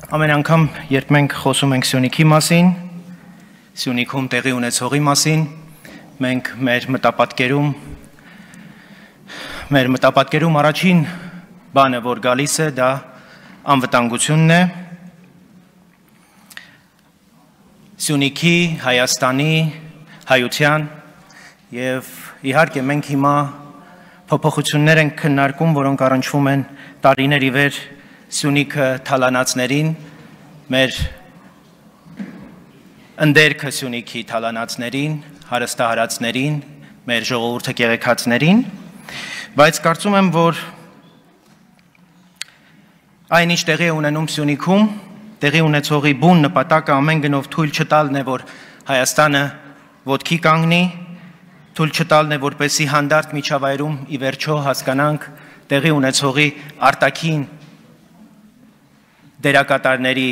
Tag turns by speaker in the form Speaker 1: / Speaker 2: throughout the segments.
Speaker 1: Ամեն անգամ, երբ մենք խոսում ենք Սյունիքի մասին, Սյունիքում տեղի ունեցողի մասին, մենք մեր մտապատկերում առաջին բանը, որ գալիս է, դա անվտանգությունն է, Սյունիքի, Հայաստանի, հայության և իհարկե մենք հիմա փոփոխություններ ենք քննարկում, որոնք առնչվում են տարիներ ի վեր Սյունիքը թալանացներին, մեր ընդերքը Սյունիքի թալանացներին, հարստահարածներին, մեր ժողովուրդը կեղեքածներին, բայց կարծում եմ, որ այն ինչ տեղի է ունենում Սյունիքում, տեղի ունեցողի բուն նպատակը ամեն գնով թույլ չտալն է, որ Հայաստանը ոտքի կանգնի, թույլ չտալն է, որպեսզի հանդարտ միջավայրում ի վերջո հասկանանք տեղի ունեցողի արտաքին դերակատարների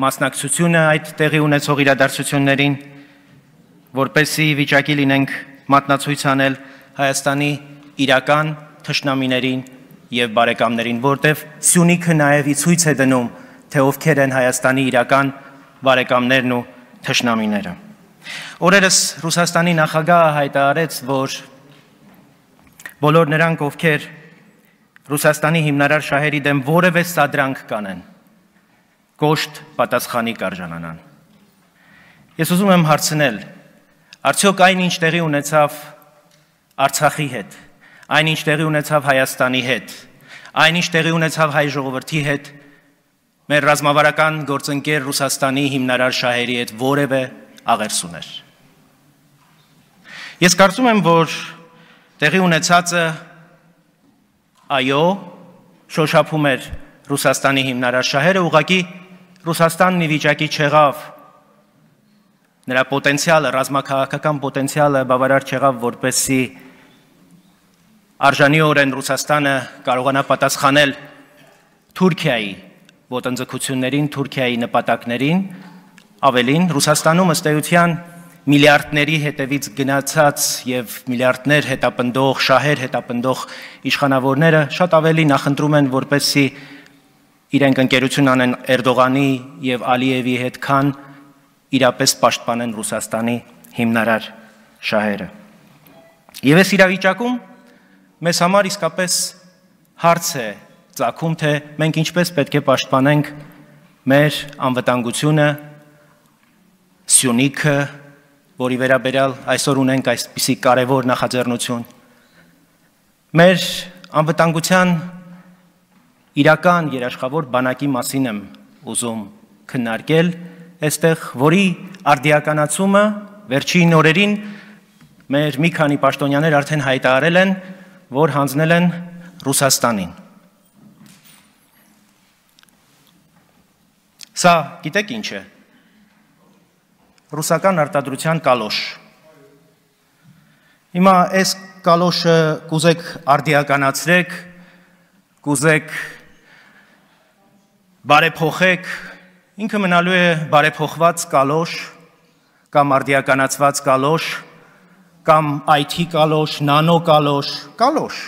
Speaker 1: մասնակցությունը այդ տեղի ունեցող իրադարձություններին, որպեսզի վիճակի լինենք մատնացույց անել Հայաստանի իրական թշնամիներին և բարեկամներին, որտև Սյունիքը նաև ցույց է դնում, թե ովքեր են Հայաստանի իրական բարեկամներն ու թշնամիները։ Օրերս Ռուսաստանի նախագահը հայտարարեց, որ բոլոր նրանք, ովքեր Ռուսաստանի հիմնարար շահերի դեմ որևէ սադրանք կանեն, կոշտ պատասխանի կարժանանան։ Ես ուզում եմ հարցնել, արդյոք այն ինչ տեղի ունեցավ Արցախի հետ, այն ինչ տեղի ունեցավ Հայաստանի հետ, այն ինչ տեղի ունեցավ հայ ժողովրդի հետ, մեր ռազմավարական գործընկեր Ռուսաստանի հիմնարար շահերի հետ որևէ աղերս ուներ։ Ես կարծում եմ, որ տեղի ունեցածը այո, շոշափում էր Ռուսաստանի հիմնարար շահերը, ուղղակի Ռուսաստանն ի վիճակի չեղավ, նրա պոտենցիալը, ռազմաքաղաքական պոտենցիալը բավարար չեղավ, որպեսզի արժանիորեն Ռուսաստանը կարողանա պատասխանել Թուրքիայի ոտնձգություններին, Թուրքիայի նպատակներին, ավելին, Ռուսաստանում ըստ էության միլիարդների հետևից գնացած և միլիարդներ հետապնդող, շահեր հետապնդող իշխանավորները շատ ավելի նախընտրում են, որպեսզի իրենք ընկերություն անեն Էրդողանի և Ալիևի հետ, քան իրապես պաշտպանեն Ռուսաստանի հիմնարար շահերը։ Եվ այս իրավիճակում մեզ համար իսկապես հարց է ծագում, թե մենք ինչպես պետք է պաշտպանենք մեր անվտանգությունը, Սյունիքը, որի վերաբերյալ այսօր ունենք այսպիսի կարևոր նախաձեռնություն։ Մեր անվտանգության իրական երաշխավոր բանակի մասին եմ ուզում քննարկել այստեղ, որի արդիականացումը վերջին օրերին մեր մի քանի պաշտոնյաներ արդեն հայտարարել են, որ հանձնել են Ռուսաստանին։ Սա գիտեք ինչ է։ Ռուսական արտադրության կալոշ։ Հիմա այս կալոշը կուզեք արդիականացրեք, կուզեք բարեփոխեք, ինքը մնալու է բարեփոխված կալոշ, կամ արդիականացված կալոշ, կամ IT կալոշ, նանո կալոշ, կալոշ։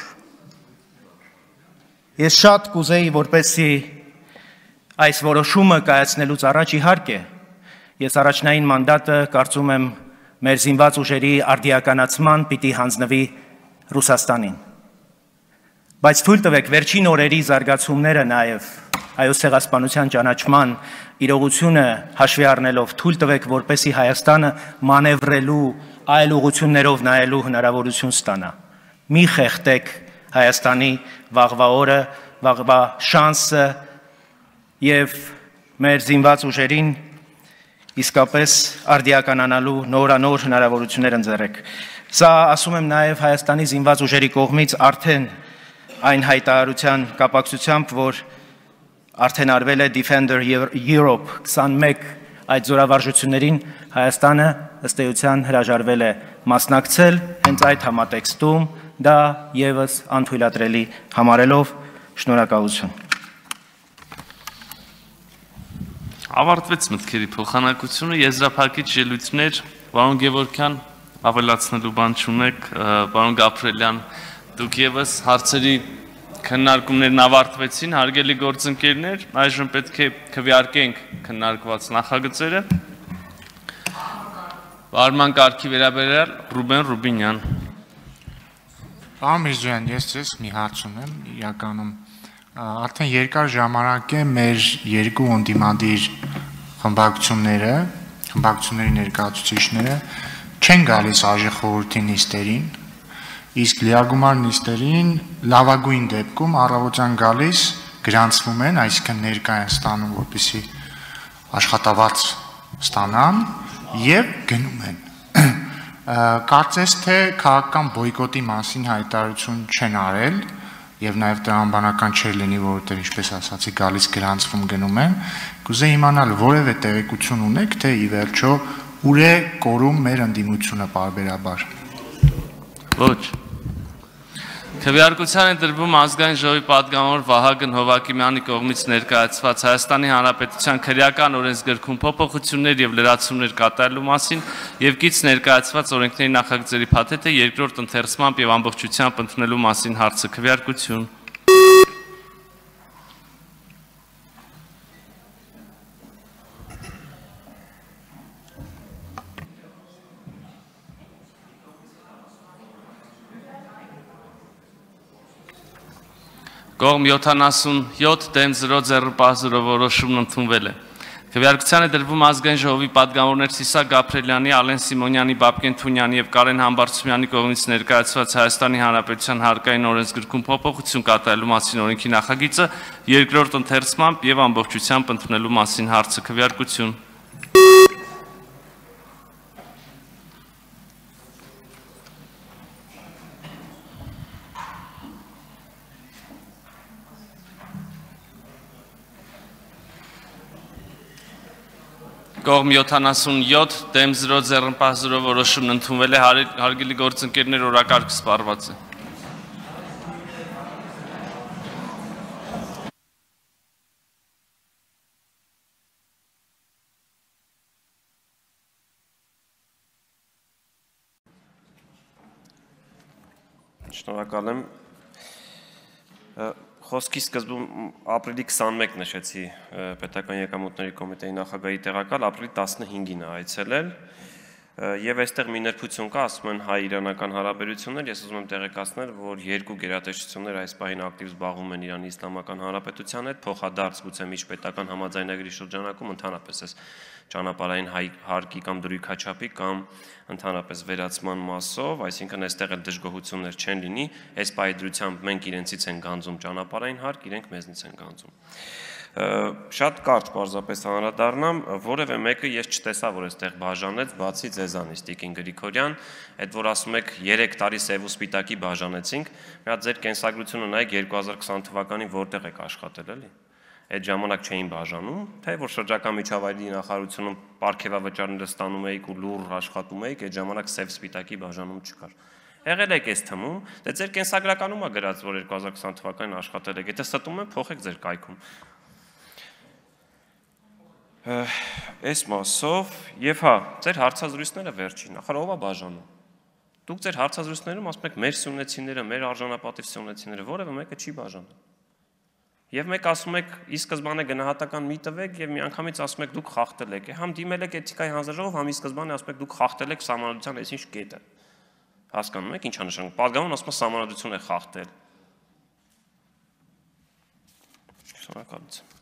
Speaker 1: Ես շատ կուզեի, որպեսզի այս որոշումը կայացնելուց առաջ իհարկե, ես առաջնային մանդատը կարծում եմ մեր զինված ուժերի արդիականացման պիտի հանձնվի Ռուսաստանին։ Բայց թույլ տվեք վերջին օրերի զարգացումները նաև Հայոց ցեղասպանության ճանաչման իրողությունը հաշվի առնելով, թույլ տվեք, որպեսզի Հայաստանը մանևրելու, այլ ուղղություններով նայելու հնարավորություն ստանա։ Մի խեղդեք Հայաստանի վաղվա օրը, վաղվա շանսը և մեր զինված ուժերին իսկապես արդիականանալու նորանոր հնարավորություններ ընձեռեք։ Սա ասում եմ նաև Հայաստանի զինված ուժերի կողմից արդեն այն հայտարարության կապակցությամբ, որ արդեն արվել է Defender Europe 21 այդ զորավարժություններին Հայաստանը ըստ էության հրաժարվել է մասնակցել, հենց այդ համատեքստում դա ևս անթույլատրելի համարելով, շնորհակալություն։
Speaker 2: Ավարտվեց մտքերի փոխանակությունը, եզրափակիչ ելույթներ, պարոն Գևորգյան, ավելացնելու բան չունեք, պարոն Գաբրելյան, դուք ևս հարցերի Քննարկումներն ավարտվեցին, հարգելի գործընկերներ, այժմ պետք է քվեարկենք քննարկված նախագծերը։ Վարման կարգի վերաբերյալ Ռուբեն Ռուբինյան։
Speaker 3: Պարոն Միրզոյան, ես մի հարց ունեմ, իրականում արդեն երկար ժամանակ է մեր երկու ընդդիմադիր խմբակցությունների ներկայացուցիչները չեն գալիս Արժի խորհրդի նիստերին, իսկ լիագումար նիստերին լավագույն դեպքում առավոտյան գալիս գրանցվում են, այսինքն ներկայ են ստանում, որպեսզի աշխատավարձ ստանան եւ գնում են։ Կարծես թե քաղաքական բոյկոտի մասին հայտարարություն չեն արել եւ նաեւ տրամաբանական չէր լինի, որովհետեւ ինչպես ասացի, գալիս գրանցվում գնում են։ Կուզեի իմանալ որևէ տեղեկություն ունեք, թե ի վերջո ուր է կորում մեր ընդդիմությունը պարբերաբար։
Speaker 2: Ոչ։ Քվեարկության է դրվում ազգային ժողովի պատգամավոր Վահագն Հովակիմյանի կողմից ներկայացված Հայաստանի Հանրապետության քրեական օրենսգրքում փոփոխություններ եւ լրացումներ կատարելու մասին եւ կից ներկայացված օրենքների նախագծերի փաթեթը երկրորդ ընթերցմամբ եւ ամբողջությամբ ընդունելու մասին հարցը քվեարկություն։ Կողմ 77 դեմ 0 ձեռնպահ որոշումն ընդունվել է։ Քվեարկության է դրվում ազգային ժողովի պատգամավորներ Սիսակ Գաբրելյանի, Ալեն Սիմոնյանի, Բաբկեն Թունյանի եւ Կարեն Համբարձումյանի կողմից ներկայացված Հայաստանի Հանրապետության հարկային օրենսգրքում փոփոխություն կատարելու մասին օրենքի նախագիծը երկրորդ ընթերցմամբ եւ ամբողջությամբ ընդունելու մասին հարցը քվեարկություն։ Կողմ 77 դեմ 0 ձեռնպահ 0 որոշումն ընդունվել է, հարգելի գործընկերներ, օրակարգը սպառված է։
Speaker 4: Շնորհակալ եմ։ Խոսքի սկզբում ապրիլի 21 նշեցի պետական եկամուտների կոմիտեի նախագահի տեղակալ, ապրիլի 15-ին է այցելել եւ այստեղ մի նրբություն կա, ասում են հայ-իրանական հարաբերություններ, ես ուզում եմ տեղեկացնել, որ երկու գերատեսչություններ այս պահին ակտիվ զբաղվում են Իրանի Իսլամական Հանրապետության հետ, փոխադարձ գուցե միջպետական համաձայնագրի շրջանակում ընդհանրապես այս ճանապարհային հարկի կամ դրույքաչափի կամ ընդհանրապես վերացման մասով, այսինքն այստեղ էլ դժգոհություններ չեն լինի, այս պայդրությամբ մենք իրենցից են գանձում ճանապարհային հարկ, իրենք մեզնից են գանձում։ Շատ կարճ պարզապես անդրադառնամ, որևէ մեկը ես չտեսա, որ այստեղ բաժանեց, բացի ձեզանից Տիկին Գրիգորյան, այդ որ ասում եք 3 տարի սև ու սպիտակի բաժանեցինք, մի հատ ձեր կենսագրությունը նայեք 2020 թվականին որտեղ եք աշխատել, էլի։ Այդ ժամանակ չէին բաժանում, թե որ շրջակա միջավայրի նախարարությունում պարգևավճարները ստանում էիք ու լուր աշխատում էիք, այդ ժամանակ սև սպիտակի բաժանում չկար։ Եղել եք այս թվում, դե ձեր կենսագրականում է գրած, որ 2020 թվականին աշխատել եք, եթե ստում են, փոխեք ձեր կայքում։ Այս մասով եւ հա, ձեր հարցազրույցները վերջին, ախր ով է բաժանում։ Դուք ձեր հարցազրույցներում ասում եք մեր սյունեցիները, մեր արժանապատիվ սյունեցիները, որևէ մեկը չի բաժանում։ Եվ մեկ ասում եք, ի սկզբանե գնահատական մի տվեք եւ միանգամից ասում եք դուք խախտել եք, համ դիմել եք էթիկայի հանձնաժողով, համ ի սկզբանե ասում եք դուք խախտել եք սահմանադրության այսինչ կետը։ Հասկանում եք ինչ է նշանակում։ Պատգամավորն ասում է սահմանադրություն է խախտել։ Շնորհակալություն։